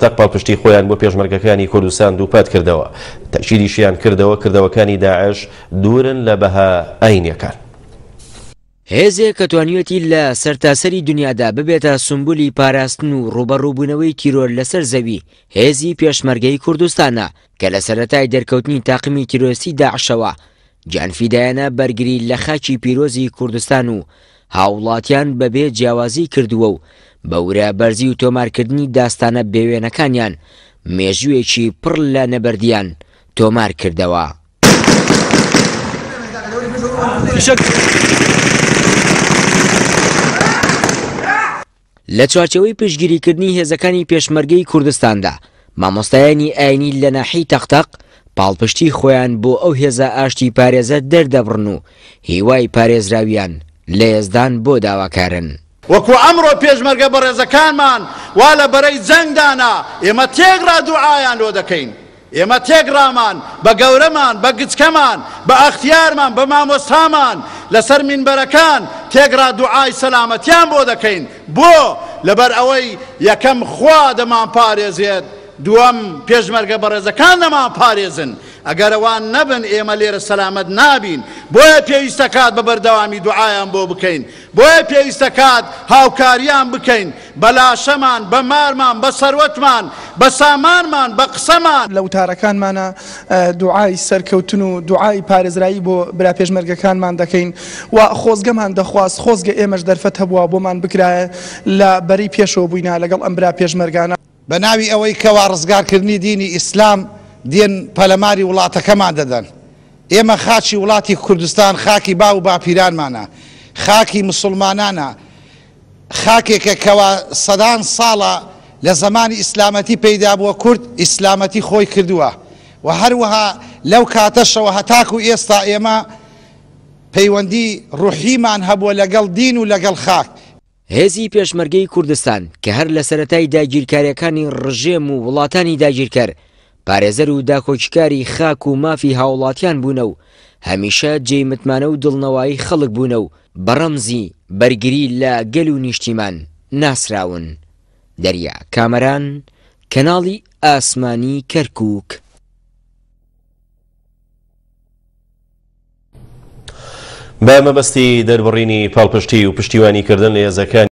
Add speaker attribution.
Speaker 1: تەق پاڵپشتی خۆیان بۆ پێشمەرگەکانی کوردستان دووپات کردەوە، تەئکیدیشیان کردەوە کردەوەکانی داعش دوورن لە بەها ئاینیەکان.
Speaker 2: هێزێک کە توانیویەتی لە سەرتاسەری دنیادا ببێتە سومبولی پاراستن و ڕووبەڕووبوونەوەی تیرۆر لەسەر زەوی، هێزی پێشمەرگەی کوردستانە کە لە سەرەتای دەرکەوتنی تاقمی تیرۆریستی داعشەوە گیانفیدایانە بەرگری لە خاکی پیرۆزی کوردستان و هاووڵاتیان بەبێ جیاوازی کردووە و بە ورە بەرزی و تۆمارکردنی داستانە بێوێنەکانیان مێژوویەکی پڕ لە نەبەردیان تۆمار کردەوە. لە چوارچێوەی پشتگیریکردنی هێزەکانی پێشمەرگەی کوردستاندا، مامۆستایانی ئاینی لە ناحیەی تەقتەق پاڵپشتی خۆیان بۆ ئەو هێزە ئاشتی پارێزە دەردەبڕن و هیوای پارێزراویان لە یەزدان بۆ داواکارن.
Speaker 3: وەکو ئەمڕۆ پێشمەرگە بەڕێزەکانمان وا لە بەرەی جەنگدانە، ئێمە تێکڕا دوعایان لۆ دەکەین. ئێمە تێکڕامان بە گەورەمان، بە گچکەمان، بە ئەختیارمان، بە مامۆستامان لەسەر مینبەرەکان تێکڕا دوعای سەلامەتیان بۆ دەکەین. بۆ؟ لەبەر ئەوەی یەکەم خوا دەمانپارێزێت، دووەم پێشمەرگە بەڕێزەکان دەمانپارێزن. ئەگەر ئەوان نەبن ئێمە لێرە سەلامەت نابین. بۆیە پێویستە کات بە بەردەوامی دوعایان بۆ بکەین. بۆیە پێویستە کات هاوکاریان بکەین بە لاشەمان، بە مارمان، بە سەروەتمان، بە سامانمان، بە قسەمان.
Speaker 4: لە وتارەکانمانا دوعای سەرکەوتن و دوعای پارێزرایی بۆ برا پێشمەرگەکانمان دەکەین و خۆزگەمان دەخواست خۆزگە ئێمەش دەرفەت هەبووا بۆمان بکرایە لە بەرەی پێشەوە بووینا لەگەڵ ئەم برا پێشمەرگانە.
Speaker 3: بە ناوی ئەوەی کەوا ڕزگارکردنی دینی ئیسلام دێن پەلەماری وڵاتەکەمان دەدەن. ئێمە خاکی وڵاتی کوردستان خاکی باو و باپیرانمانە، خاکی مسوڵمانانە، خاکێکە کەوا سەدان ساڵە لە زەمانی ئیسلامەتی پەیدا بووە کورد ئیسلامەتی خۆی کردووە و هەروەها لەو کاتەشەوە هەتاکو ئێستا ئێمە پەیوەندی ڕوحیمان هەبووە لەگەڵ دین و لەگەڵ خاک.
Speaker 2: هێزی پێشمەرگەی کوردستان کە هەر لە سەرەتای داگیرکاریەکانی ڕژێم و وڵاتانی داگیرکەر پارێزەر و داکۆکیکاری خاک و مافی هاوڵاتیان بوونە و هەمیشە جێی متمانە و دڵنەوایی خەڵک بوونە و بە ڕەمزی بەرگری لە گەل و نیشتیمان ناسراون. دەریا کامەران، کەناڵی ئاسمانی کەرکوک.
Speaker 1: بە مەبەستی دەربڕینی پاڵپشتی و پشتیوانیکردن لە هێزەکانی.